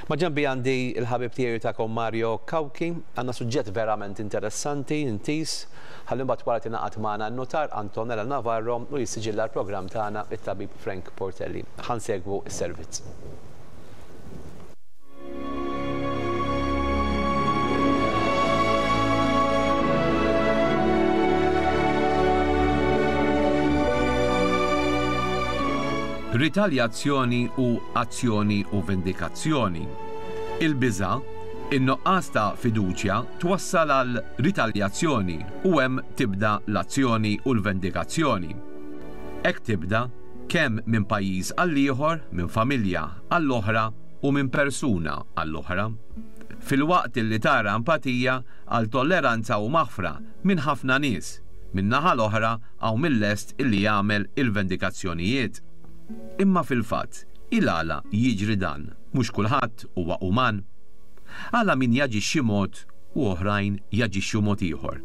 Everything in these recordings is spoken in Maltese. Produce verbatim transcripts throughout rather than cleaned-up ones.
Maġenbi għandi il-ħabib tiegħi tagħkom Mario Cauchi, għandna suġġett verament interessanti, intis, ħalli mbagħad wara tingħaqad magħna n-notar Antonella Navarro u jissiġilla l-programm tagħna it-tabib Frank Portelli. Ħa nsegwu s-servizz. Ritaljazzjoni u azzjoni u vendikazzjoni. Il-biża', in-nuqqas ta' fiduċja twassal għal ritaljazzjoni u hemm tibda l-azzjoni u l-vendikazzjoni. Hekk tibda kemm minn pajjiż għal ieħor, minn familja għall-oħra u minn persuna għall-oħra. Filwaqt li tara empatija għal tolleranza u maħfra minn ħafna nies, minn naħa l-oħra hawn mill-lest illi jagħmel il-vendikazzjonijiet. Imma fil-fatt, il-għala jiġri dan, mhux kulħadd huwa uman. Għala min jaġixxi mod u oħrajn jaġixxu mod ieħor.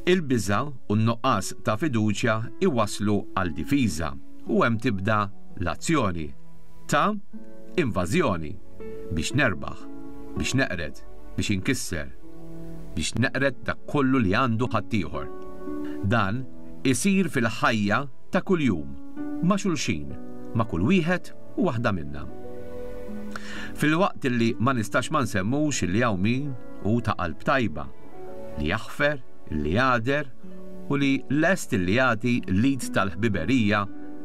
Il-biża' u n-nuqqas ta' fiduċja iwasslu għal difiża u hemm tibda l-azzjoni ta' invażjoni biex nerbaħ, biex neqred, biex inkisser, biex neqred dak kollu li għandu ħaddieħor. Dan isir fil-ħajja ta' kuljum, ma' xulxin, ma' kull wieħed u waħda minna. Filwaqt li ma nistax ma nsemmux li hawn min hu ta' qalb tajba, li jaħfer, li jagħder u li lest li jagħti l-id tal-ħbiberija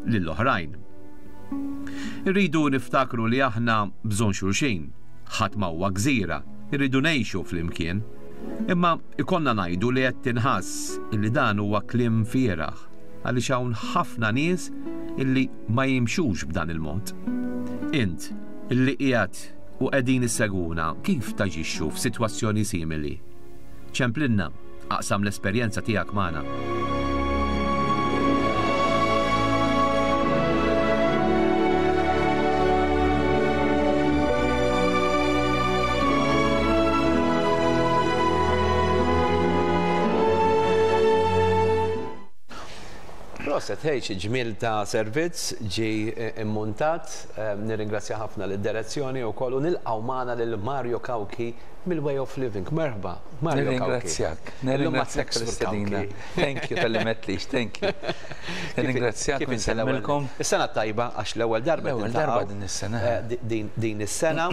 lill-oħrajn. Irridu niftakru li aħna bżonn xulxin, ħadd ma huwa gżira, irridu ngħixu flimkien. Imma ikollna ngħidu li qed tinħass illi dan huwa kliem fieragħ, għaliex hawn ħafna nies illi ma jimxux b'dan il-mod. Int, illi qiegħed u qegħdin issegwuna, kif taġixxu f'sitwazzjoni simili? Ċemplinna, aqsam l-esperjenza tiegħek magħna. Proset, hej, xi ġmiel ta' servizz ġi immuntat, nirringrazzja ħafna lid-direzzjoni wkoll u nilqgħu magħna lil Mario Cauchi mill-Way of Living. Merħba, Mario Cauchi. Nirringrazzjak, nirringrazzjak tal-istedina. Thank you talli m'għedtlix, thank you. Nirringrazzjak u nsellmilkom. Is-sena tajba għax l-ewwel darba L-ewwel darba din is-sena. Din is-sena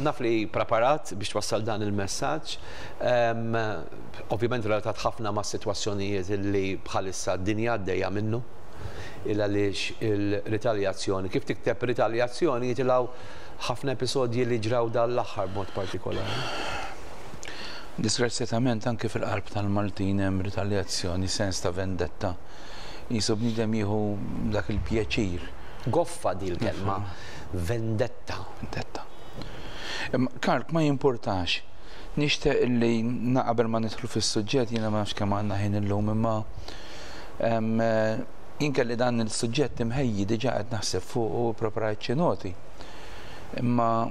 naf li preparat biex twassal dan il-messaġġ. Ovvjament relatat ħafna ma' sitwazzjonijiet li bħalissa d-dinja għaddejja minnu, il għaliex il-ritaljazzjoni, kif tikteb ritaljazzjoni jitilgħu ħafna episodji li ġraw dan l-aħħar b'mod partikolari. Disgrazzjatament anke fil-qalb tal-Maltin hemm ritaljazzjoni, sens ta' vendetta. Jisu bniedem jieħu dak il-pjaċir. Goffa di l-kelma, vendetta. Vendetta. Karl, ma jimpurtax. Nixtieq li qabel ma nidħlu fis-suġġett, jiena ma nafx kemm għandna ħin illum, imma jien kelli dan il-suġġett imħejji diġà qed naħseb fuq u preparajt xi noti. Imma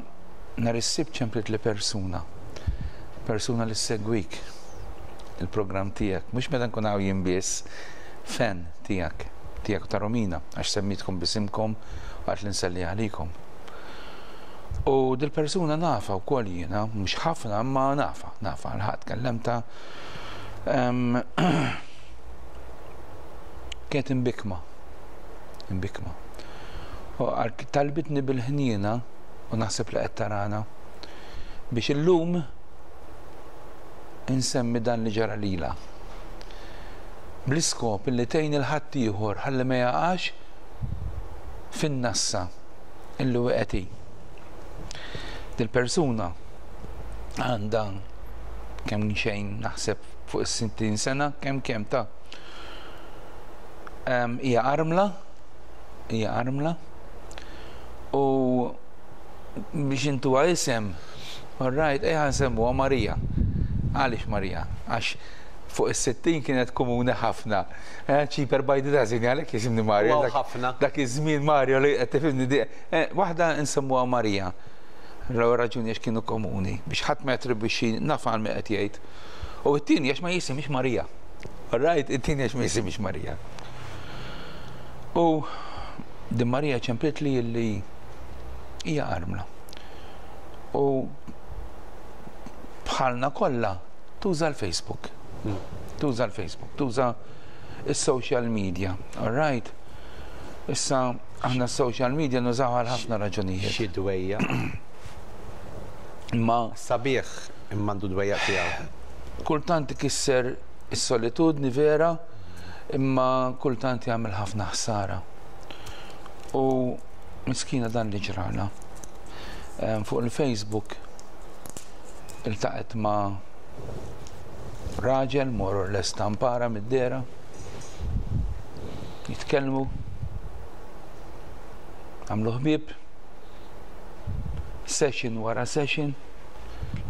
nhar is-Sibt ċemplit li persuna, persuna li ssegwik il-programm tiegħek, mhux meta nkun hawn jien biss, fan tiegħek, tiegħek ta' Romina, għax semmitkom bisimkom u għax li nselli għalikom. U dil-persuna nafa wkoll jiena, mhux ħafna, imma nafa, nafa, l-ħadd kellemta. Kienet imbikma, imbikma. U talbitni bil-ħniena, u naħseb li qed tarana, biex illum insemmi dan li ġara lilha. Bl-iskop illi tgħin il-ħaddieħor ħalli ma jaqax fin-nassa illi wieqed hi. Dil-persuna għandha kemm xejn naħseb fuq is-sittin sena, kemm kemm ta' hija armla, hija armla, u biex intuha isem, all right, ejja nsemmuha Marija. Għaliex Marija? Għax fuq is-sittin kienet komuni ħafna. Cheaper by the dozen, għalhekk jisimni Mario. Ħafna. Dak iż-żmien Mario li qed tifhimni di. Waħda nsemmuha Marija. L-ewwel raġuni għax kienu komuni, biex ħadd ma jattribwixxi naf għal min qed jgħid. U t-tieni għax ma jisimx Marija. All right, it-tieni għax ma jisimx Marija. U din Marija ċemplit li li hija armla. U bħalna kollha tuża l-Facebook. Tuża l-Facebook, tuża is-social media, all right? Issa aħna s-social media nużaw għal ħafna raġunijiet. Xi dwejja. Imma sabiħ imma għandu dwejja tiegħu. Kultant ikisser is-solitudni vera, imma kultant jagħmel ħafna ħsara. U miskina dan li ġrala. Fuq il-Facebook iltaqgħet ma' raġel more or less tampara mid-dera, jitkellmu, għamlu ħbieb, session wara session,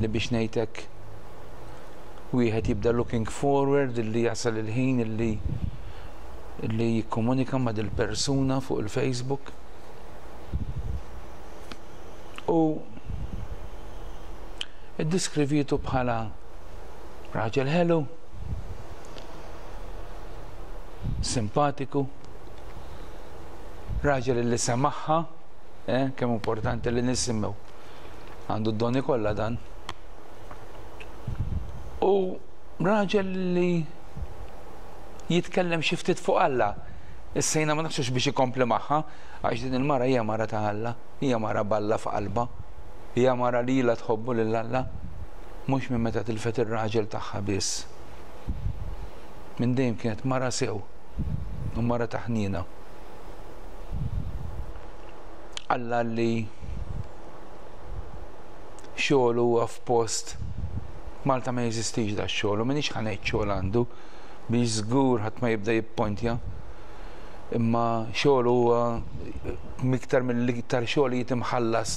li biex ngħidlek wieħed jibda looking forward illi jasal il-ħin illi illi jikkomunika ma' dil-persuna fuq il-Facebook. U iddiskrivietu bħala raġel ħelu, simpatiku, raġel li semaħħa, eh, kemm importanti li nisimgħu. Għandu d-doni kollha dan. U raġel li jitkellem xi ftit fuq Alla. Issa jiena ma nafx biex ikompli magħha, għax din il-mara hija mara ta' Alla, hija mara balla f'qalbha, hija mara li ilha tħobbu lil Alla, mhux minn meta tilfet ir-raġel tagħha biss. Minn dejjem kienet mara sew u mara ta' ħniena. Alla li xogħol huwa f'post Malta ma jeżistix da xogħol, u m'iniex ħa ngħid xogħol għandu biex żgur ħadd ma jibda jippontja. Imma xogħol huwa miktar mill-iktar xogħol jitimħallas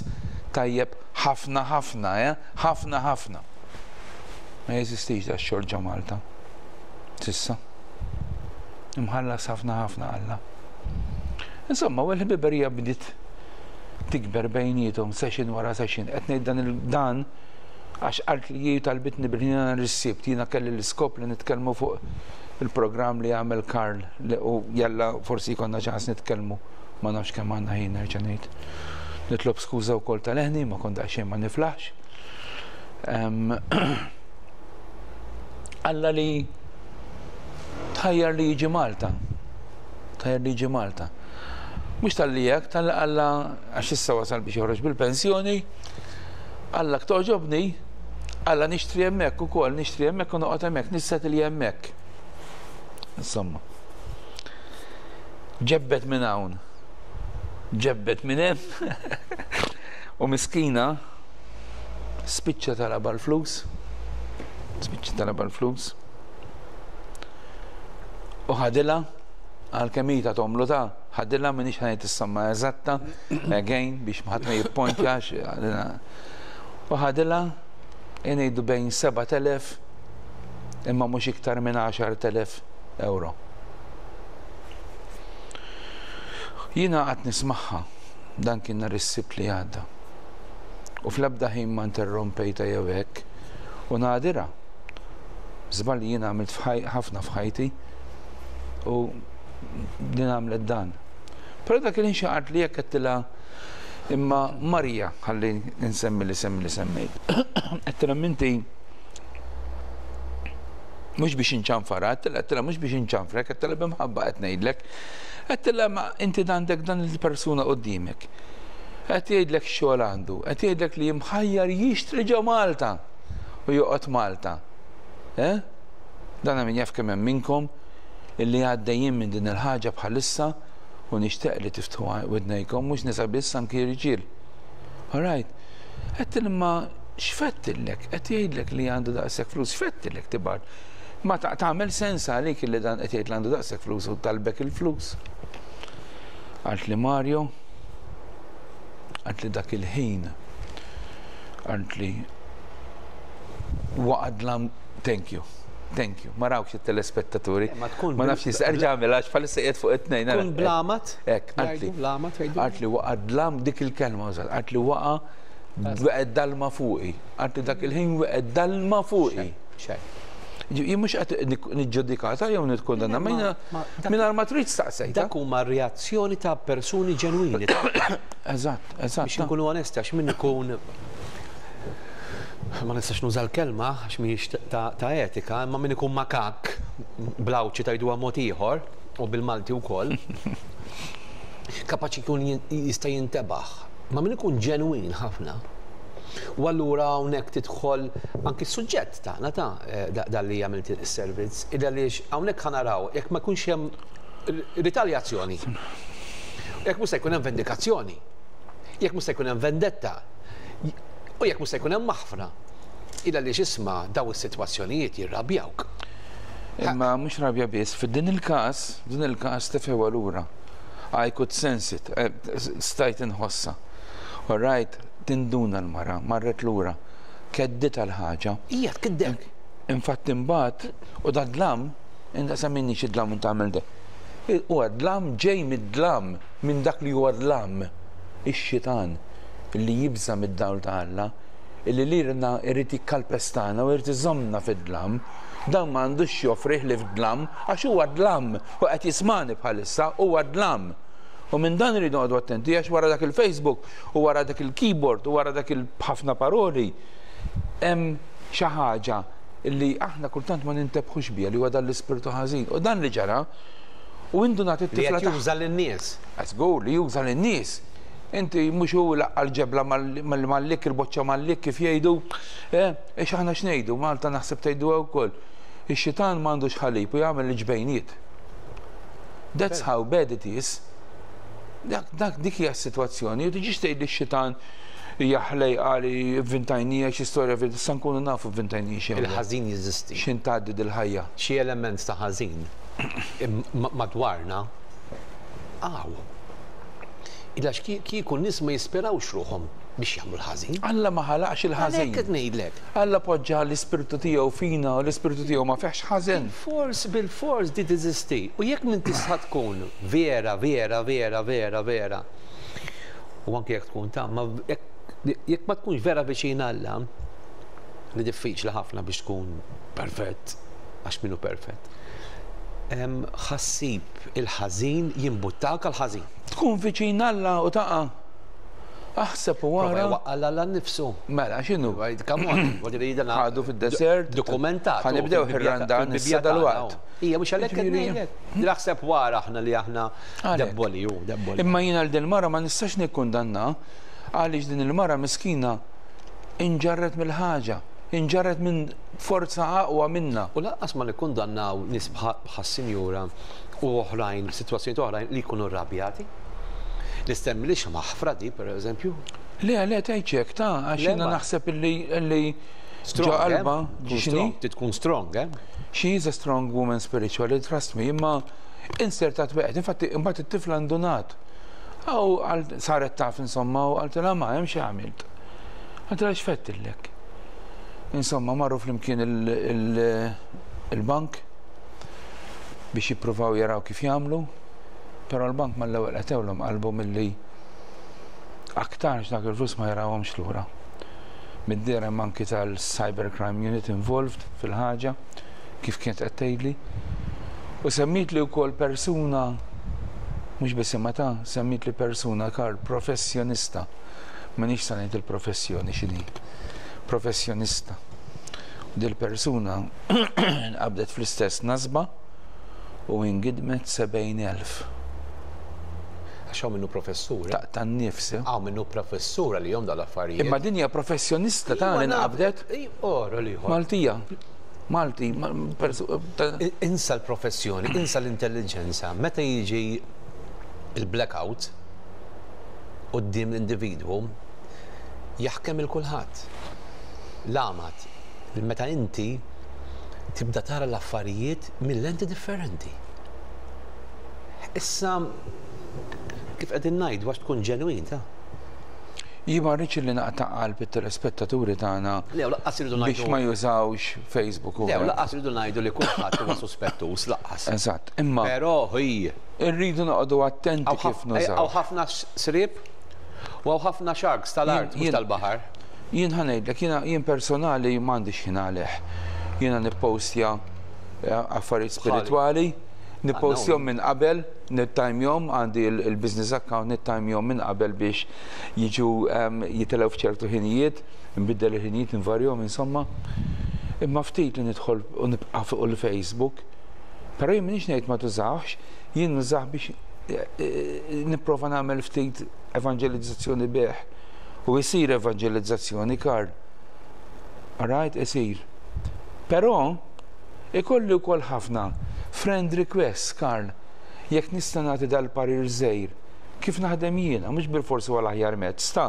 tajjeb ħafna ħafna, eh? Ħafna ħafna. Ma jeżistix da xogħol ġo Malta. Sissa. Imħallas ħafna ħafna Alla. Insomma, u l-ħbiberija bdiet tikber bejniethom session wara session. Qed ngħid dan il-dan għax qalt li jien talbitni bil-ħin nhar is-Sibt, jiena kelli l-iskop li nitkellmu fuq il-programm li għamel Karl li u jalla forsi jkollna ċans nitkellmu, ma nafx kemm għandna ħin nerġa' ngħid. Nitlob skuża wkoll tal-eħni, ma kont daqsxejn ma niflaħx. Alla li tħajjar li jiġi Malta. Tħajjar li jiġi Malta. Mhux tal-li hekk, tal-li Alla għax issa wasal biex joħroġ bil-pensjoni, Alla toġobni, Alla nixtri hemmhekk ukoll, nixtri hemmhekk u noqgħod hemmhekk, nissettle hemmhekk. Insomma. Ġebbet minn hawn. Ġebbet minn hemm. U miskina spiċċa talab l-flus. Spiċċa talab l-flus. U ħadilha għal kemm hi ta' tomlu ta' ħadilha m'iniex ħa ngħid is-somma eżatta, again biex ħadd ma jippontjax. U ħadilha ngħidu bejn sebat elef imma mhux iktar minn għaxart elef euro. Jiena qatt nismagħha dan kien nhar is-Sibt li għadda. U fl-ebda ħin ma interrompejta jew hekk u nadira. Żball li jiena għamilt ħafna f'ħajti u din għamlet dan. Però dak il-ħin xi qalt li jekk għedtilha imma Marija, ħalli nsemmi li semmi li semmejt. Għedtilha minti mhux biex inċanfara, għedtilha għedtilha mhux biex inċanfrek, għedtilha b'imħabba qed ngħidlek. Għedtilha ma inti għandek dan il-persuna quddiemek. Qed jgħidlek xogħol għandu, qed jgħidlek li jimħajjar jixtri ġo Malta u joqgħod Malta. Eh? Dan min jaf kemm hemm minnkom illi għaddejjin minn din il-ħaġa bħalissa u nixtieq li tiftħu widnejkom, mhux nisa biss anki rġiel. All right. Qed imma x'fettillek? Qed jgħidlek li għandu daqshekk flus, x'fettillek tibgħat? Ma tagħmel sens għalik illi dan qed jgħid li għandu daqshekk flus u talbek il-flus. Qalt li Mario, qalt li dak il-ħin, qalt li waqad lam, thank you. Thank you. Ma rawx it-telespettaturi. Ma tkun Ma nafx jista' erġa' għamel għax bħalissa qiegħed fuq it-tnejn. Tkun blamat? Hekk, qaltli. Blamat jgħidu? Qaltli waqa' dlam dik il-kelma użat. Qaltli waqa' waqgħet dalma fuqi. Qaltli dak il-ħin waqgħet dalma fuqi. Xejn. Jien mhux qed niġġudikata jew nikkundanna, ma jiena Ma- dak- mingħajr ma trid staqsejta. Dak huma reazzjoni ta' persuni ġenwini. Eżatt, eżatt. Biex nkunu onesti, għax min ikun Ma nistax nuża l-kelma għax mhijiex ta' etika, imma min ikun makak bl-Għawdxi tgħiduha mod ieħor u bil-Malti wkoll. Kapaċi jkun jista' jintebaħ. Ma min ikun ġenwin ħafna. U allura hawnhekk tidħol anki s-suġġett tagħna ta' dalli għamilt is-servizz, għaliex hawnhekk ħa naraw jekk ma jkunx hemm ritaljazzjoni. Jekk mhux se jkun hemm vendikazzjoni. Jekk mhux se jkun hemm vendetta. U jekk mhux se jkun hemm maħfra. Illa li x'isma' daw is-sitwazzjonijiet jirrabjawk. Imma mhux rabja biss, f'din il-każ, din il-każ tefgħuha lura. I could sense it, stajt inħossa. All right, tinduna l-mara, marret lura, kedditha l-ħaġa. Ija tkiddek. Infatti imbagħad u da dlam, inta semminni xi dlam u tagħmel de. Huwa dlam ġej mid-dlam, minn dak li huwa dlam, ix-xitan li jibża mid-dawl ta' Alla, illi lilna irid jikkalpestana u irid iżommna fid-dlam. Dan ma għandux joffrih li f'dlam, għax huwa dlam, u qed jismani bħalissa, huwa dlam. U minn dan irridu noqogħdu attenti għax wara dak il-Facebook u wara dak il-keyboard u wara dak il-ħafna paroli hemm xi ħaġa li aħna kultant ma nintebħux biha li huwa dan l-ispirtu ħażin. U dan li ġara u indunat Li it-tifla qed juża lin-nies. Żgur li juża lin-nies. Inti mhux hu laqqa l-ġebla mal-lik, il-boċċa mal-lik kif jgħidu, eh, aħna x'ngħidu, Malta naħseb tgħidu wkoll. Ix-xitan m'għandux ħalib u jagħmel il-ġbejniet. That's how bad it is. Dak, dak dik hija s-sitwazzjoni, u tiġix tgħid li x-xitan hija ħlejqa li vvintajnieha xi storja issa nkunu nafu vvintajnieha xi. Il-ħażin jeżisti. X'in tgħaddi dil-ħajja. Xi element ta' ħażin madwarna għaw. Illa kieku nies ma jispirawx ruħhom biex jagħmlu l-ħażin. Alla ma ħalaqx il-ħażin. Għalhekk qed ngħidlek. Alla poġġa l-ispirtu tiegħu fina u l-ispirtu tiegħu ma fihx ħażin. Bil-fors, bil-fors di teżisti. U jekk minn tista' tkun vera, vera, vera, vera, vera. U anke jekk tkun ta' ma jekk ma tkunx vera viċin Alla, li diffiċli ħafna biex tkun perfett, għax minnu perfett. Ħassib il-ħażin jimbuttak għal-ħażin. Tkun viċin Alla u taqa'. Aħseb u wara. Waqqa' Alla nnifsu. Mela, x'inhu? Come on, Ħadu fid-desert. Dokumentat. Ħa nibdew ir-Randan issa dal-waqt. Ija, mhux għalhekk qed ngħidlek. Naħseb wara aħna li aħna debboli, ju, debboli. Imma jiena l din mara ma nistax nikkundanna għaliex din il-mara miskina inġarret mill-ħaġa, inġarret minn forza aqwa minna. U lanqas ma nikkundannaw nies bħas-sinjura u oħrajn, sitwazzjoni oħrajn li jkunu rrabjati. Nistemmi li maħfra di, per eżempju. Le, le, tgħidx ta' għax jiena naħseb illi illi ġo qalba x'inhi? Tkun strong, eh? She is a strong woman spiritually, trust me, imma insertat wieħed. Infatti, imbagħad it-tifla ndunat. Aw saret taf insomma u qaltilha ma hemm xi għamilt. Qaltilha x'fettillek. Insomma, marru flimkien il-bank biex jippruvaw jaraw kif jagħmlu, però l-bank mal-ewwel qatgħulhom qalbhom milli aktarx dak il-flus ma jarawhomx lura. Mid-dehra hemm anki tal-Cybercrime Unit involved fil-ħaġa, kif kienet qed tgħidli. U semmit li wkoll persuna, mhux biss imma ta' semmit li persuna kar professjonista. M'inix sa ngħid il-professjoni x'inhi. Professjonista. U dil-persuna nqabdet fl-istess nasba u ingidmet sebgħin elf. Għax hawn minnu professur. Ta' tan-nifs. Hawn minnu professur li jom dal-affarijiet. Imma din hija professjonista ta' li nqabdet. Ora li Maltija. Malti. Insa l-professjoni, insa l-intelligenza. Meta jiġi il-blackout quddiem l-individwu, jaħkem il-kulħadd. L-għamad, meta inti tibda tara l-affarijiet minn lenti differenti. Issa, kif qegħdin ngħidu għax tkun ġenwin ta' Jien ma rridx li naqta' qalb it-telespettaturi tagħna Le, laqqas irridu biex ngħidu ma jużawx Facebook u Le, hekk. laqqas irridu ngħidu li kulħadd huwa suspettus, laqqas. Eżatt, imma Però hi irridu noqogħdu attenti hawn kif ħaf- nużaw. hawn ħafna srib u hawn ħafna sharks tal-art Jien- mhux tal-baħar. Jien ħa ngħidlek, jiena jien personali m'għandix ħin għalih. Jiena nippostja eh, affarijiet spiritwali, Nippostjahom minn qabel, nittajmjahom, għandi il-business account, nittajmjahom minn qabel biex jiġu jitilgħu f'ċertu ħinijiet, nbiddel il-ħinijiet, nvarjahom, insomma. Imma ftit li nidħol u nibqa' fuq il-Facebook, però jien m'iniex ngħid ma tużawx, jien nużah biex eh, eh, nipprova nagħmel ftit evangelizzazzjoni bih. U jsir evangelizzazzjoni, Karl. Alright, isir. Però ikolli wkoll ħafna friend requests, Karl. Jekk nista' nagħti dal-parir żgħir, kif naħdem jiena, mhux bil-forsi huwa l-aħjar mezz ta'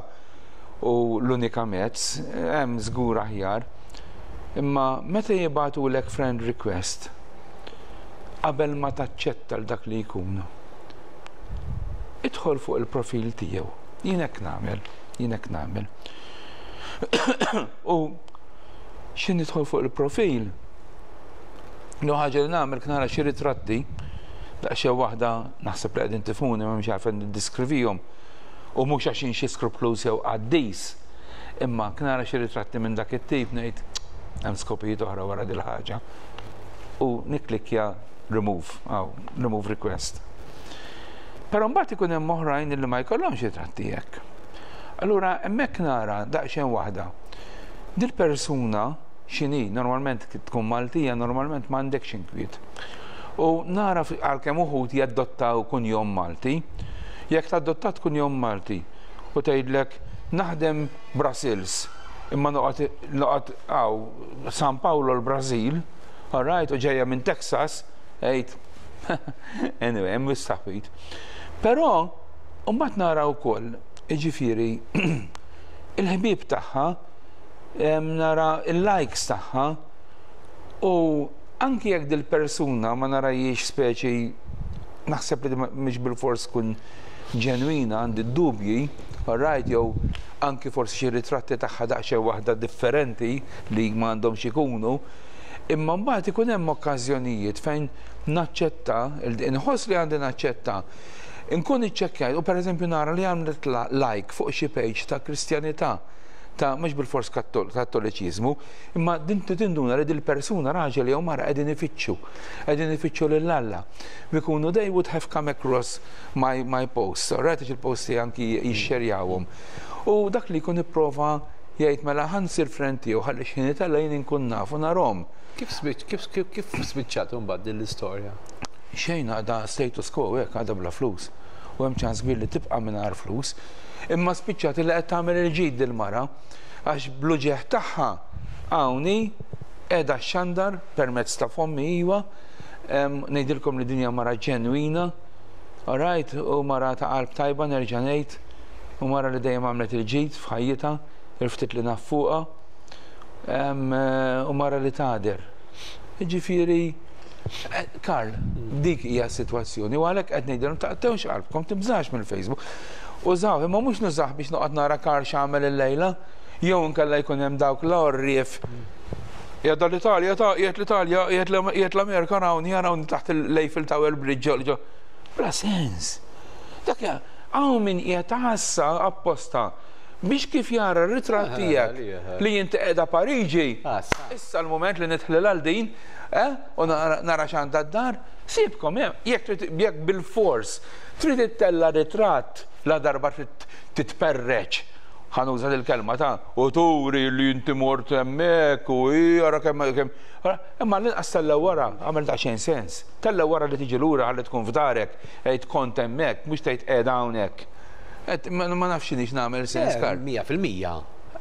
u l-unika mezz, hemm żgur aħjar. Imma meta jibagħtulek friend request, qabel ma taċċetta l dak li jkun, idħol fuq il-profil tiegħu. Jien hekk nagħmel, jien hekk nagħmel. U x'ħin nidħol fuq il-profil, l ħaġa li nagħmel nara xi ritratti, daqsxejn waħda naħseb li qegħdin tifhmuni, ma mhux għarfen niddiskrivihom. U mhux għax xi skrupluż jew qaddis, imma nara xi ritratti minn dak it-tip ngħid hemm skopijiet oħra wara dil ħaġa. U nikklikkja remove, aw, remove request. Però mbagħad ikun hemm oħrajn li ma jkollhomx ritratti hekk. Allura hemmhekk nara daqsxejn waħda. Dil-persuna x'inhi, normalment tkun Maltija, normalment m'għandekx inkwiet. U nara għalkemm uħud jaddottaw kunjom Malti, jekk tadottat kunjom Malti u tgħidlek naħdem Brussels, imma noqgħod noqgħod hawn San Paolo l-Brażil, all right, u ġejja minn Texas, għejd, anyway, hemm istaħwit. Però, mbagħad nara wkoll, jiġifieri, il-ħbieb tagħha, nara il-likes tagħha, u anki jekk dil-persuna ma narajiex speċi naħseb li mhix bil-fors tkun ġenwina, għandi dubji, right, jew anki forsi xi ritratti tagħha daqsxejn waħda differenti li m'għandhomx ikunu, imma mbagħad ikun hemm okkażjonijiet fejn naċċetta, inħoss li għandi naċċetta, inkun iċċekkjajt u pereżempju nara li għamlet like fuq xi page ta' Kristjanità, ta' mhux bil-fors kattoliċiżmu, imma din tinduna li dil-persuna, raġel jew mara, qegħdin ifittxu, qegħdin ifittxu lil Alla. Bikunu they would have come across my, my post, right, il-posti anki jixxerjawhom. U dak li jkun ipprova jgħid mela ħa nsir friend tiegħu ħalli x'ħin itella' jien inkun naf u narahom. Kif kif kif spiċċat imbagħad din l-istorja? Xejn, għadha status quo hekk, għadha bla flus. U hemm ċans kbir li tibqa' mingħajr flus. Imma spiċċat li qed tagħmel il-ġid dil-mara għax bl-uġigħ tagħha hawnhi qiegħda xandar permezz ta' fommi iwa, ngħidilkom li dinja mara ġenwina, alright, u mara ta' qalb tajba nerġa' ngħid, u mara li dejjem għamlet il-ġid f'ħajjitha, il-ftit li naf fuqha, u mara li tagħder. Ġifieri, Karl, dik hija s-sitwazzjoni u għalhekk qed ngħidilhom taqtgħux qalbkom, tibżax mill-Facebook. Użaw, imma mhux nużah biex noqgħod nara Karl x'għamel illejla, jew inkella jkun hemm dawk l-orrief. Qiegħda l-Italja, ta' qiegħed l-Italja, qiegħed l-Amerika, hawn jarawni taħt l-Eiffel Tower Bridge ġo. Bla sens. Dak hawn min qiegħed ħassa apposta biex kif jara r-ritratt tiegħek li inti qiegħda Pariġi. Issa l-moment li nidħlil għal din, eh, u nara x'għandha d-dar, sibkom, jekk jekk bil-fors trid ittella ritratt la darba trid titperreċ, ħa nuża il-kelma ta' u turi li inti mort hemmhekk u jara kemm kemm. Imma l-inqas tella wara, għamel daqsxejn sens. Tella wara li tiġi lura ħalli tkun f'darek, għid kont hemmhekk, mhux tgħid qiegħda hawnhekk. Ma nafx x'inhix nagħmel sens, Karl. Mija fil-mija.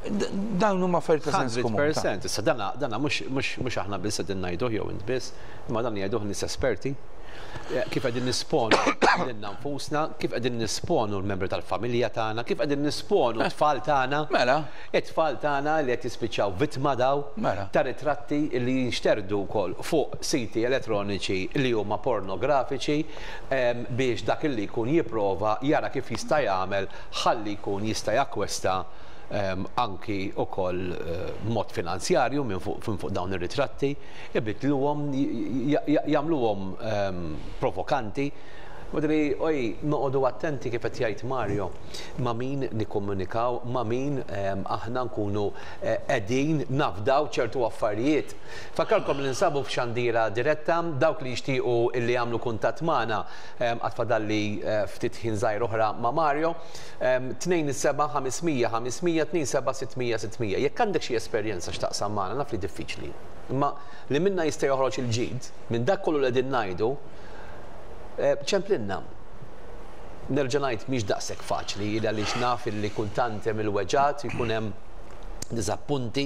Dawn huma affarijiet ta' sens komun. mija fil-mija. Issa dana dana mhux mhux aħna biss qegħdin ngħiduh jew int biss, imma dan jgħiduh nies esperti. Kif qegħdin nisponu lilna nfusna, kif qegħdin nisponu l-membri tal-familja tagħna, kif qegħdin nisponu t-tfal tagħna. Mela. It-tfal tagħna li qed jispiċċaw vittma daw Mela. ta' ritratti li jinxterdu wkoll fuq siti elettroniċi li huma pornografiċi biex dak li jkun jipprova jara kif jista' jagħmel ħalli jkun jista' jakkwesta anki wkoll mod finanzjarju minn fuq fuq dawn ir-ritratti, ibidluhom, jagħmluhom provokanti. Madri, oj, noqogħdu attenti kif qed jgħid Mario, ma' min nikkomunikaw, ma' min aħna nkunu qegħdin nafdaw ċertu affarijiet. Fakkarkom li nsabu f'xandira diretta, dawk li jixtiequ illi jagħmlu kuntatt magħna għad fadalli ftit ħin żgħir oħra ma' Mario, tnejn seba' ħames mija ħames mija, tnejn seba' sitt mija sitt mija. Jekk għandek xi esperjenza x'taqsam magħna, naf li diffiċli. Imma li minna jista' joħroġ il-ġid, minn dak kollu li qegħdin ngħidu, ċemplinna. Nerġa' ngħid, mhix daqshekk faċli għaliex naf illi kultant hemm il-weġgħat, jkun hemm diżappunti.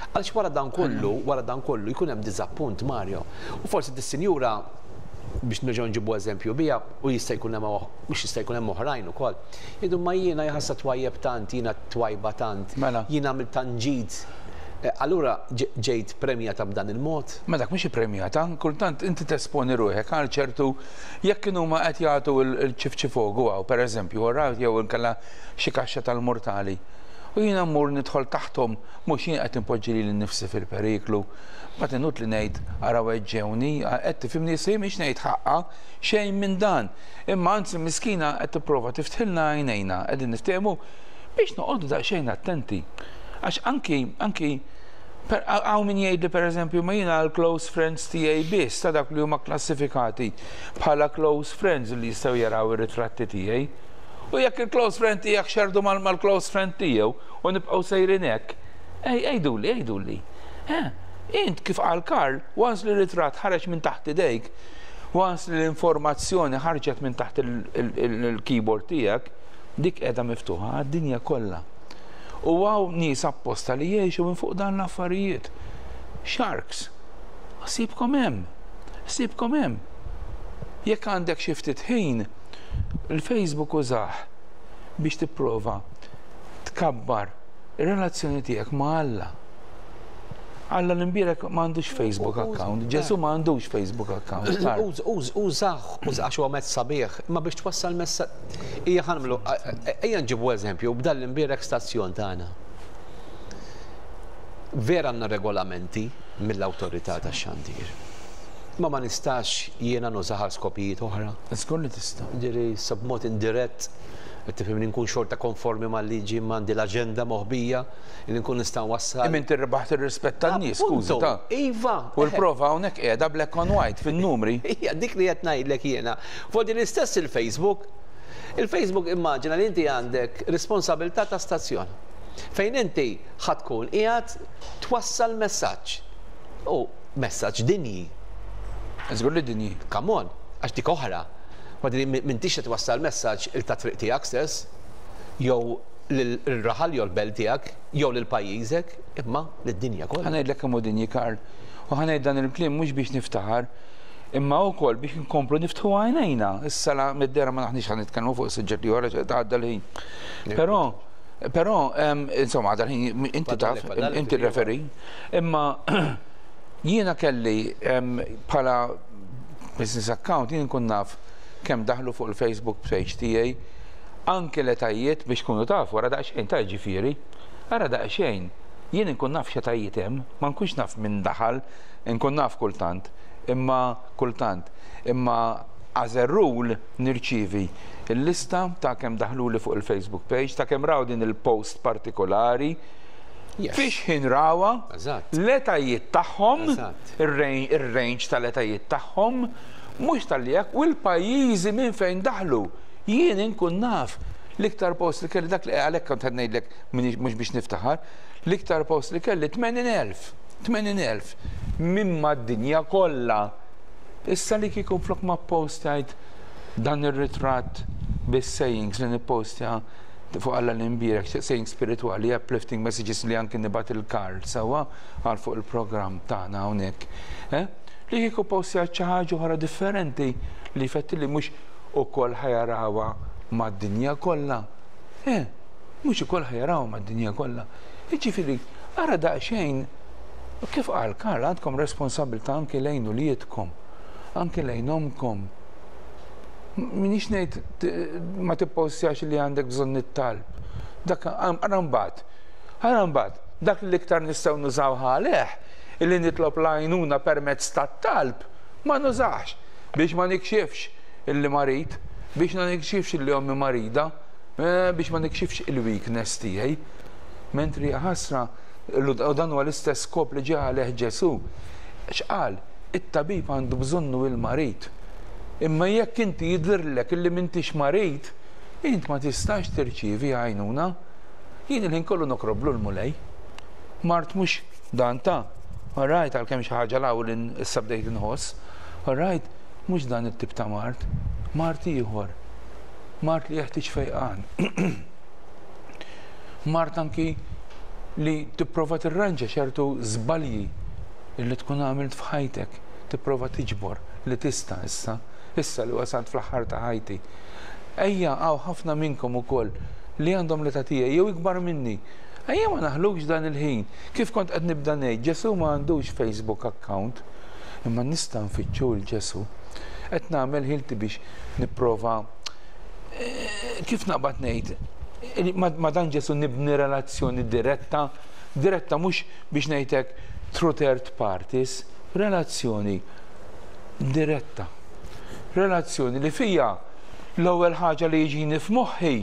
Għaliex wara dan kollu, wara dan kollu jkun hemm diżappunt, Mario. U forsi dis-sinjura, biex nerġgħu nġibu eżempju bija, u jista' jkun hemm, mhux jista' jkun hemm oħrajn ukoll. Jgħidu, ma jiena jħassa twajjeb tant, jiena twajba tant, Mela. jiena għamilt tant ġid. Allura ġejt premjata b'dan il-mod? Ma dak mhux premjata, kultant inti tesponi ruħek għal ċertu, jekk kienu ma qed jagħtu il-ċifċifogu għaw, per eżempju, għarraw jew inkella xi kaxxa tal-mortali. U jiena mmur nidħol taħthom, mhux jien qed inpoġġi lili nnifsi fil-periklu. Ma tenut li ngħid araw ġewni, qed tifhimni, se mhix ngħid ħaqqa xejn minn dan. Imma anzi miskina qed tipprova tiftħilna għajnejna, qegħdin niftehmu, biex noqogħdu daqsxejn attenti. Għax anki, anki hawn min jgħid li, per eżempju, ma jiena l-close friends tiegħi biss, ta' dak li huma klassifikati bħala close friends li jistgħu jaraw ir-ritratti tiegħi. U jekk il-close friend tiegħek xerdu mal-close friend tiegħu u nibqgħu sejrin hekk, ej, għiduli, għiduli. Eh, int kif qal Karl, once li ritratt ħareġ minn taħt idejk, once li l-informazzjoni ħarġet minn taħt il-keyboard tiegħek, dik qiegħda miftuħa għad-dinja kollha. U hawn nies apposta li jgħixu minn fuq dan l-affarijiet. Sharks. Sibkom hemm. Sibkom hemm. Jekk għandek xi ftit ħin, il-Facebook użah biex tipprova tkabbar ir-relazzjoni tiegħek ma' Alla. Alla l-imbierek m'għandux Facebook account, Ġesu m'għandux Facebook account. Użah, użah, huwa mezz sabiħ, ma biex twassal messaġġ. Ija ħa nagħmlu, ejja nġibu eżempju, b'dan l-imbierek stazzjon tagħna. Vera għandna regolamenti mill-awtorità tax-xandir. Ma ma nistax jiena nużah għal skopijiet oħra? Żgur li tista'. Ġifieri, sa b'mod indirett, tifhimni, nkun xorta konformi mal-liġi, m'għandi l-aġenda moħbija li nkun nista' nwassal. Imma inti rbaħt ir-rispett tan-nies, skużi ta'. Iva. U l-prova hawnhekk qiegħda black on white fin-numri. Hija dik li qed ngħidlek jiena. Fuq l-istess il-Facebook. Il-Facebook, immaġina li inti għandek responsabilità ta' stazzjon fejn inti ħa tkun qiegħed twassal messaġġ. U messaġġ dinji. Żgur li dinji. Come on, għax dik oħra. Madri m'intix qed twassal messaġġ il ta' triq tiegħek stess, jew l-raħal jew l-belt tiegħek, jew lil pajjiżek, imma lid-dinja kollha. Ħa ngħidlek kemm hu dinji, Karl. U ħa ngħid dan il-kliem mhux biex niftaħar, imma wkoll biex nkomplu niftħu għajnejna. Issa la mid-dera ma naħniex ħa nitkellmu fuq suġġetti oħra, tgħadda l-ħin. Però Però, insomma, għadha l-ħin, inti taf, inti referi, imma jiena kelli bħala business account, jien nkun naf kemm daħlu fuq il-Facebook page tiegħi, anke l-etajiet biex kunu taf, wara daqsxejn ta' ġifieri, ara daqsxejn, jien nkun naf x'etajiet hemm, ma nkunx naf min daħal, nkun naf kultant, imma kultant, imma as a rule nirċivi il-lista ta' kemm daħlu li fuq il-Facebook page, ta' kemm raw din il-post partikolari, fiex ħin rawa, l-etajiet tagħhom, ir-range tal-etajiet tagħhom, mhux tal-li u l-pajjiżi minn fejn daħlu. Jien inkun naf l-iktar post li kelli, dak li għalhekk kont ngħidlek mhux biex niftaħar, l-iktar post li kelli tmenin elf, tmenin elf minn mad-dinja kollha. Issa li kieku flok ma postajt dan ir-ritratt bis-sayings li nippostja fuq Alla l-imbierek, saying spirituali, uplifting messages li anki nibgħat lil Karl sewwa għal fuq il-programm tagħna hawnhekk. Eh? Li kieku postjat xi ħaġa oħra differenti li fetti li mhux ukoll ħa jarawha mad-dinja kollha. Eh, mhux ukoll ħa jarawha mad-dinja kollha. Jiġifieri, ara daqsxejn, kif qal Karl, għandkom responsabilità anki lejn uliedkom, anki lejn omkom. Minix ngħid ma tippostjax li għandek bżonn it-talb. Dak ara mbagħad. Ara mbagħad, dak li l-iktar nistgħu nużaw għalih, illi nitlob l-għajnuna permezz tat-talb, ma nużax biex ma nikxifx illi marid, biex ma nikxifx illi ommi marida, biex ma nikxifx il-weakness tiegħi. Mentri ħasra, u dan huwa l-istess skop li ġie għalih Ġesù. X'qal? It-tabib għandu bżonnu il-marid. Imma jekk inti jidhirlek illi m'intix marid, int ma tistax tirċievi għajnuna. Jien il-ħin kollu nokroblu l-Mulej. Mart mhux dan ta' all right, għalkemm xi ħaġa l li issa bdejt inħoss. All right, mhux dan it-tip ta' mard, mard ieħor. Mard li jeħtieġ fejqan. Mard anki li tipprova tirranġa ċertu żbalji li tkun għamilt f'ħajtek, tipprova tiġbor li tista' issa, issa li wasalt fl-aħħar ta' ħajti. Ejja, hawn ħafna minnkom ukoll li għandhom l-età tiegħi jew ikbar minni. Ejja ma naħlux dan il-ħin. Kif kont qed nibda ngħid, Ġesù ma għandux Facebook account, imma nista' nfittxu 'l Ġesù. Qed nagħmel ħilti biex nipprova kif naqbad ngħid, ma dan Ġesù nibni relazzjoni diretta, diretta mhux biex ngħidlek through third parties, relazzjoni diretta. Relazzjoni li fija l-ewwel ħaġa li jiġini f'moħħi,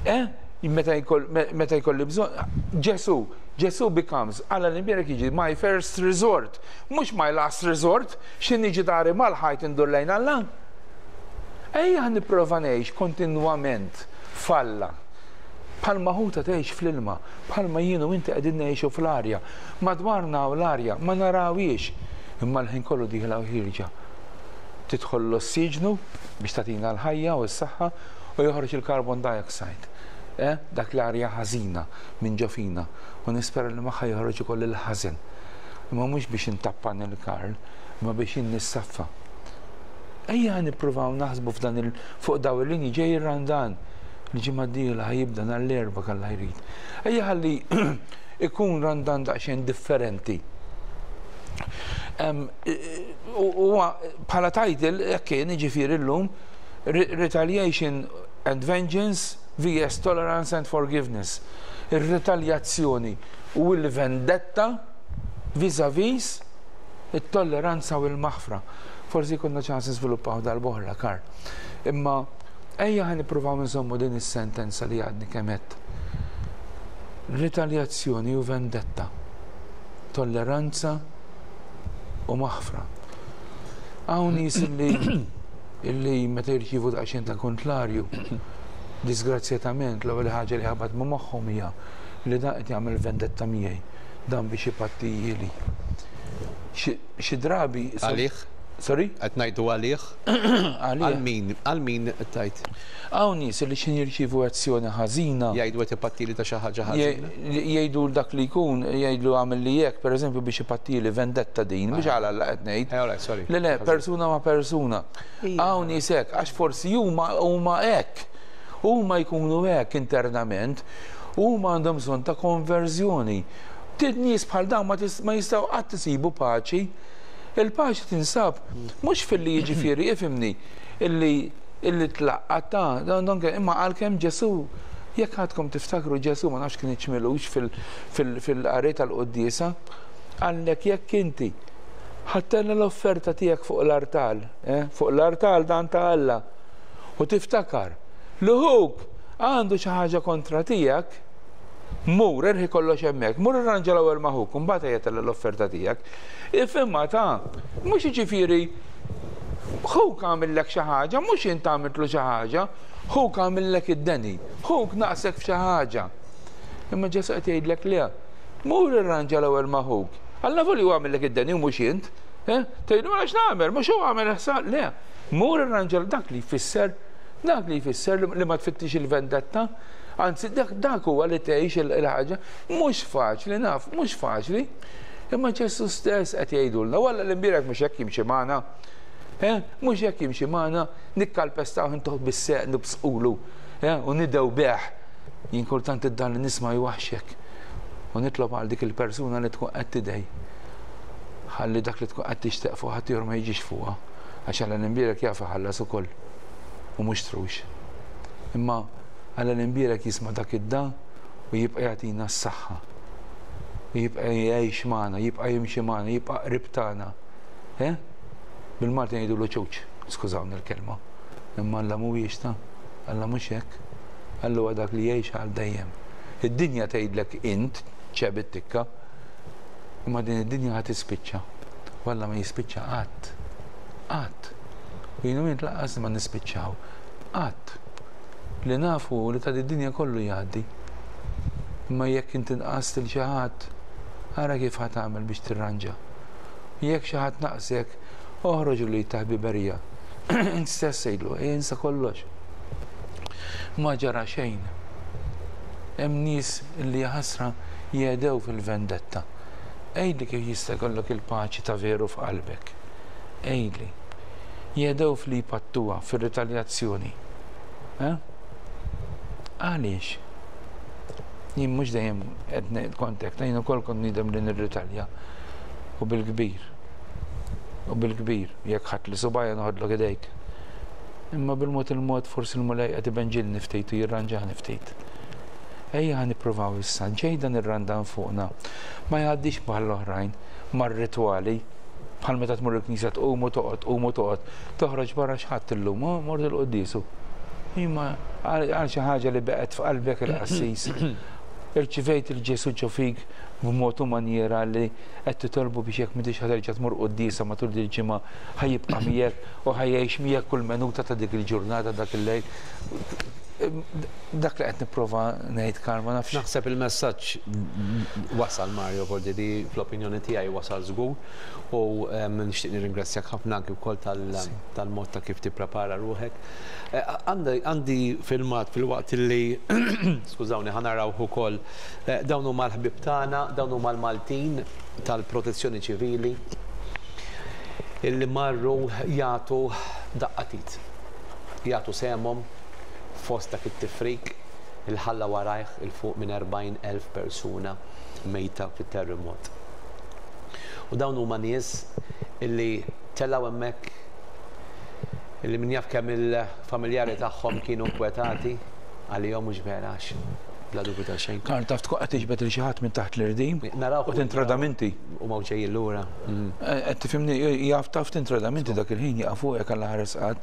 eh, meta jkolli bżonn, Ġesù, Ġesù becomes, Alla l-imbierek jiġi my first resort, mhux my last resort, x'ħin niġi dari mal-ħajt indur lejn Alla. Ejja nipprova ngħix kontinwament f'Alla. Bħalma ħuta tgħix fl-ilma, bħalma jien u inti qegħdin ngħixu fl-arja. Madwarna u l-arja ma narawiex, imma l-ħin kollu dieħla u ħierġa. Tidħol l-ossiġnu biex tagħtina l-ħajja u s-saħħa u joħroġ il-carbon dioxide. Eh? Dak l-arja ħażina minn ġo fina u nispera li magħha joħroġ ukoll il-ħażen. Imma mhux biex intappan il-Karl, imma biex nissaffa. Ejja nippruvaw naħsbu f'dan il fuq daw il-linji. Ġej ir-Randan, il-ġimgħa d-dieħla ħa jibda nhar l-Erbgħa Alla jrid. Ejja ħalli ikun Randan daqsxejn differenti. Huwa bħala title hekk kien, jiġifieri llum "Retaliation and Vengeance versus Tolerance and Forgiveness". Ir-retaljazzjoni u l-vendetta vis-a-vis it-tolleranza u l-maħfra. Forsi konna ċans niżviluppaw darb'oħra, Kar. Imma ejja ħa nippruvaw nżommu din is-sentenza li għadni kemm għedt. Ritaljazzjoni u vendetta. Tolleranza u maħfra. Hawn nies illi illi meta jirċievu daqsxejn ta' kontlarju, disgrazzjatament l-ewwel ħaġa li ħabat ma' moħħhom hija li dan qed jagħmel vendetta miegħi, dan biex ipattijieli. Xi drabi. Għalih? Sorry? Qed ngħidu għalih? Għalih. Għal min? Għal min tajt? Hawn nies li x'ħin jirċievu azzjoni ħażina. Jgħidu qed ipattili ta' xi ħaġa ħażina. Jgħidu dak li jkun, jgħidu għamel li jekk, per eżempju, biex ipattili vendetta din, mhux għal Alla qed ngħid. Eh, alright, sorry. Le, le, persuna ma' persuna. Hawn nies hekk, għax forsi huma huma hekk. Huma jkunu hekk internament, huma għandhom bżonn ta' konverżjoni. Nies bħal dawn ma jistgħu qatt isibu paċi. Il-paċi tinsab mhux fil-li, jiġifieri, ifhimni, illi illi tlaqqat ta' donke, imma għalkemm Ġesù, jekk għadkom tiftakru, Ġesù, ma nafx kien iċmilux fil-qari tal-quddiesa, għallek jekk inti ħa ttella' l-offerta tiegħek fuq l-artal, eh, fuq l-artal dan ta' Alla, u tiftakar li ħuk għandu xi ħaġa kontra tiegħek, mur, erħi kollox hemmhekk, mur irranġa l-ewwel ma' ħuk, mbagħad ejja tella' l-offerta tiegħek. Ifhimha ta', mhux jiġifieri ħuk għamillek xi ħaġa, mhux int għamiltlu xi ħaġa, ħuk għamillek id-deni, ħuk naqsek f'xi ħaġa. Imma Ġesù qed jgħidlek le, mur irranġa l-ewwel ma' ħuk. Alla voli hu għamillek id-deni u mhux int. Eh? Tgħidu ma nagħmel, mhux hu għamel ħsar, le. Mur irranġa. Dak li jfisser, dak li jfisser li ma tfittix il-vendetta. Anzi, dak dak huwa li tgħix il-ħaġa, mhux faċli naf, mhux faċli. Imma Ġesù stess qed jgħidulna, walla l-imbierek mhux hekk jimxi magħna. Eh? Mhux hekk jimxi magħna, nikkalpestaw intuħ bis-seq nibsqulu, eh? U nidew beħ. Jien kultant id-dan li nisma' jwaħxek. U nitlob għal dik il-persuna li tkun qed tidej. Ħalli dak li tkun qed tixtieq fuq ħaddieħor ma jiġix fuqha. Għax Alla l-imbierek jaf iħallas ukoll. U mhux trux. Imma Alla l-imbierek jisma' dak id-dan u jibqa' jagħtina s-saħħa. U jibqa' jgħix magħna, jibqa' jimxi magħna, jibqa' qrib tagħna. Eh? Bil-Malti ngħidulu ċuċ, skużawni l-kelma. Imma Alla mhuwiex ta', Alla mhux hekk. Alla huwa dak li jgħix għal dejjem. Id-dinja tgħidlek int ċeb it-tikka, imma din id-dinja ħa tispiċċa. U Alla ma jispiċċa qatt. Qatt. U jien u int lanqas ma nispiċċaw. Qatt. Li nafu li ta' id-dinja kollu jgħaddi. Imma jekk inti nqast lil xi ħadd, ara kif ħa tagħmel biex tirranġa. Jekk xi ħadd naqsek, oħroġ li ta' ħbiberija. Int stess għidlu, ejja insa kollox. Ma ġara xejn. Hemm nies li ħasra jedew fil-vendetta. Għidli kif jista' jkollok il-paċi ta' veru f'qalbek. Għidli. Jedew fli jpattuha fir-ritaljazzjoni. Eh? Għaliex? Jien mhux dejjem qed ngħid kont hekk, jien ukoll kont nidem li nirritalja. U bil-kbir. U bil-kbir, jekk ħadd li subajja noħodlok idejk. Imma bil-mod il-mod forsi l-Mulej qed ibenġilni ftit u jirranġani ftit. Ejja ħa nippruvaw issa, ġej dan ir-Randan fuqna. Ma jgħaddix bħall-oħrajn, mar-ritwali, bħal meta tmur il-knisja tqum u toqgħod, tqum u toqgħod, toħroġ barra x'ħadd illum, oh, mort il-quddiesu. Imma għal xi ħaġa li beqgħet f'qalbek il-qassis. Irċivejt il-Ġesu ġo fik b'mod u manjera li qed titolbu biex jekk m'intix ħa terġa' tmur quddiesa matul din il-ġimgħa ħa jibqa' miegħek u ħa jgħix miegħek kull minuta ta' dik il-ġurnata dak il-lejl. Dak li qed nipprova ngħid Karl ma nafx. Naħseb il-messaġġ wasal Mario Bordi fl-opinjoni tiegħi wasal żgur u nixtieq nirringrazzjak ħafna anki wkoll tal-mod ta' kif tipprepara ruħek. Għandi filmat fil-waqt li skużawni ħa naraw ukoll dawn huma l-ħbieb tagħna, dawn huma l-Maltin tal-Protezzjoni Ċivili illi marru jagħtu daqqa t'id. Jagħtu sehemhom fost dak it-tifrik il ħalla warajh 'il fuq minn erbgħin elf persuna mejta fit-terremot. U dawn huma nies illi telgħu hemmhekk illi min jaf kemm il-familjari tagħhom kienu nkwetati għalihom mhux vera għax bla dubju ta' xejn. Karl taf tkun qed tiġbed lil xi ħadd minn taħt l-irdim Naraw u tintrada minti. U ma ġejjin lura. Qed tifhimni jaf taf tintrada minti dak il-ħin jaqaf fuqek għal ħares qatt.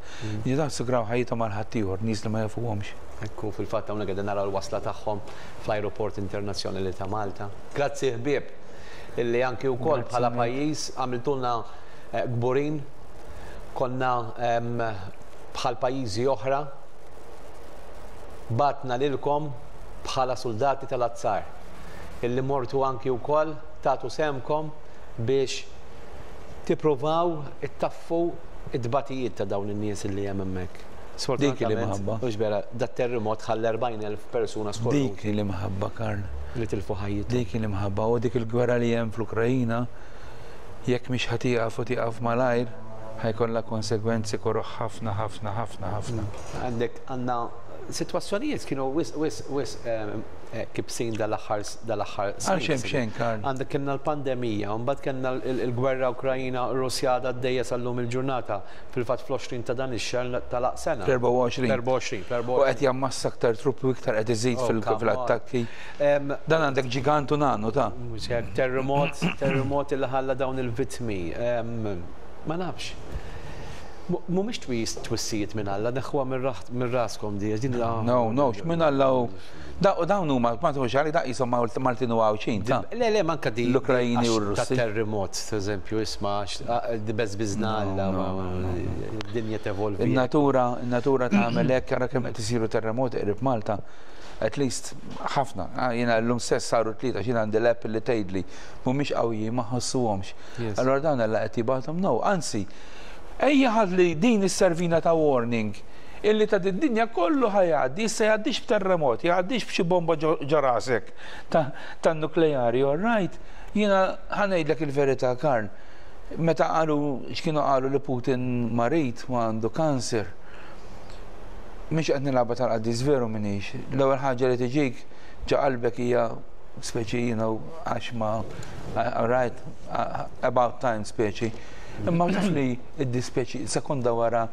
Jidaf sugraw ħajjithom għal ħaddieħor nies li ma jafuhomx. Ekku fil-fatt hawnhekk qegħdin naraw l-wasla tagħhom fl-Ajruport Internazzjonali ta' Malta. Grazzi ħbieb illi anki wkoll bħala pajjiż għamiltulna kburin konna bħal pajjiżi oħra batna lilkom bħala soldati tal-azzar illi mortu anki wkoll tagħtu sehemkom biex tippruvaw ittaffu id-batijiet ta' dawn in-nies illi hemm hemmhekk. Dik li mħabba. Mhux vera, dat terremot ħalla erbgħin elf persuna skorru. Dik li mħabba, Karl. Li tilfu ħajjithom. Dik li mħabba u dik il-gwerra li hemm fl-Ukrajina jekk mhix ħa tieqaf u tieqaf malajr ħa jkollha konsegwenzi koroh ħafna ħafna ħafna ħafna. Għandek għandna sitwazzjonijiet kienu wisq wisq wisq kibsin dal-aħħar dal-aħħar Għal xejn b'xejn, Karl. Għandek kellna l-pandemija, u mbagħad kellna l-gwerra Ukrajina Russja għadha għaddejja sal-lum il-ġurnata fil-fatt fl-għoxrin ta' dan ix-xahar tal sena. Fl-erbgħa u għoxrin. Fl-erbgħa u għoxrin, fl-erbgħa u U qed jammassa aktar truppi u iktar qed iżid Oh, fil- come on. fil-attakki. Em, Dan għandek ġigantu nanu ta' Mhux hekk, terremot, terremot illi ħalla dawn il-vittmi. Em, Ma nafx. Mhumiex twis twissijiet minn Alla, neħħuha minn raskom di, din la. No, no, x'minn Alla u da u dawn huma ma tħux għalik da qishom Maltin u Għawdxin ta' Le, le, manka di. L-Ukrajini u għax r-Russi. Ta' terremot, per eżempju, isma' di beżbiżna Alla, id-dinja tevolvi. In-natura, in-natura tagħmel hekk ara kemm qed isiru terremoti qrib Malta. At least ħafna. Ah, Jiena llum stess saru tlieta x'jien għandi l-app li tgħidli mhumiex qawwijin ma ħossuhomx. Yes. Allora dawn Alla qed jibgħathom no, anzi, ejja ħalli din isservina ta' warning illi ta' d-dinja kollu ħa jgħaddi, issa jgħaddix b'terremot, jgħaddix b'xi bomba ġo ġo rasek ta' ta' nukleari, all right? Jiena ħa ngħidlek il-verità, Karl. Meta qalu x'kienu qalu li Putin marid u għandu kanser. Mhix qed nilgħabha tal-qaddis veru minix. L-ewwel ħaġa li tiġik ġo qalbek hija speċi, you know, għax ma, all right, about time speċi. Imma taf li id-dispeċi, sekonda wara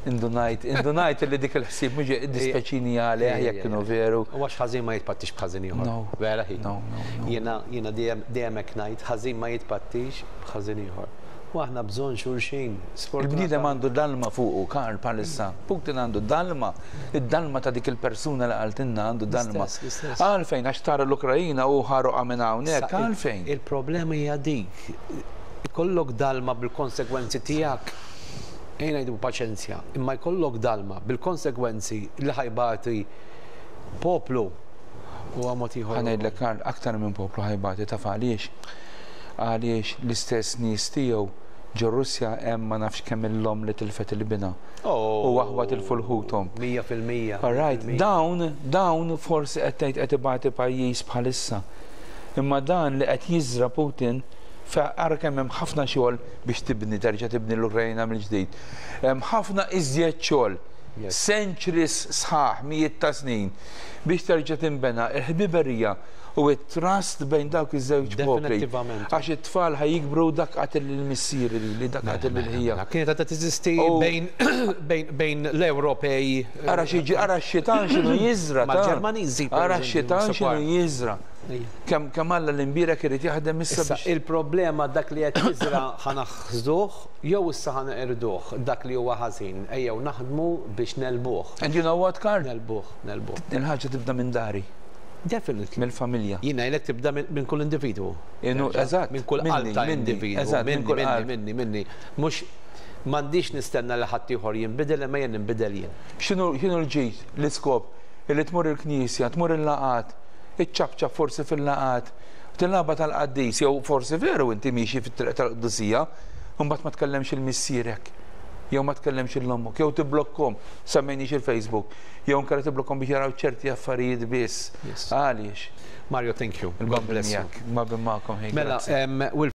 indunajt, indunajt li dik il-ħsieb mhux id-dispeċini għalih jekk kienu veru. U għax ħażin ma jitpattix b'ħażin ieħor. No. Vera hi. No, no, no. Jiena jiena dejjem dejjem hekk ngħid, ħażin ma jitpattix b'ħażin ieħor. U aħna bżonn xulxin. Il-bniedem għandu dalma fuqu, Karl, bħalissa. Putin għandu dalma. Id-dalma ta' dik il-persuna li qaltilna għandu dalma. Għalfejn, għax tara l-Ukrajina u ħaruqa minn hawnhekk, għalfejn. Il-problema hija dik. Ikollok dalma bil-konsekwenzi tiegħek. Ejja ngħidu paċenzja, imma jkollok dalma bil-konsekwenzi li ħa jbati poplu u għamot ieħor. Ħa ngħidlek, Karl, aktar minn poplu ħa jbati, taf għaliex? Għaliex l-istess nies tiegħu ġo Russja hemm ma nafx kemm il-omm li tilfet lil binha. Oh. U aħwa tilfu 'l ħuthom. Mija fil-mija. All right, dawn, dawn forsi qed tgħid qed ibati pajjiż bħalissa. Imma dan li qed jiżra Putin, ara kemm hemm ħafna xogħol biex tibni, terġa' tibni l-Ukrajna mill-ġdid. Hemm ħafna iżjed xogħol, centuries sħaħ, mijiet ta' snin, biex terġa' tinbena il-ħbiberija u it-trust bejn dawk iż-żewġ popli. Għax it-tfal ħa jikbru dak qatel lil missieri li dak qatel lil ħija. Kienet għadha teżisti bejn l-Ewropej. Ara xi ara x-xitan x'inhu jiżra. Mal-Ġermaniżi. Ara x-xitan x'inhu jiżra. Kemm kemm Alla l-imbierek irid jaħdem issa biex. Il-problema dak li qed jiżra ħa naħsduh jew issa ħa neqirduh dak li huwa ħażin. Ejjew naħdmu biex negħlbuh. And you know what, Karl? Negħlbuh, negħlbuh. Il-ħaġa tibda minn dari. Definitely. Mill-familja. Jiena jlek tibda minn kull individwu. Eżatt. Minn kull qalb ta' individwu. Eżatt, minni, minni, minni, minni. Mhux m'għandix nistenna li ħadd ieħor jinbidel imma jien ninbidel jien. X'inhu l-ġid, l-iskop, li tmur il-knisja, tmur il-laqgħat, iċċapċap forsi fil-laqgħat, tilaba tal-qaddis, jew forsi veru inti miexi fit-triq tal-qdusija, mbagħad ma tkellemx lil missierek, jew ma tkellemx lil ommok, jew tiblokkhom, semmejniex il-Facebook, jew inkella tiblokkhom biex jaraw ċerti affarijiet biss. Għaliex? Mario, thank you. God bless you. Ma bimmakom. Mela,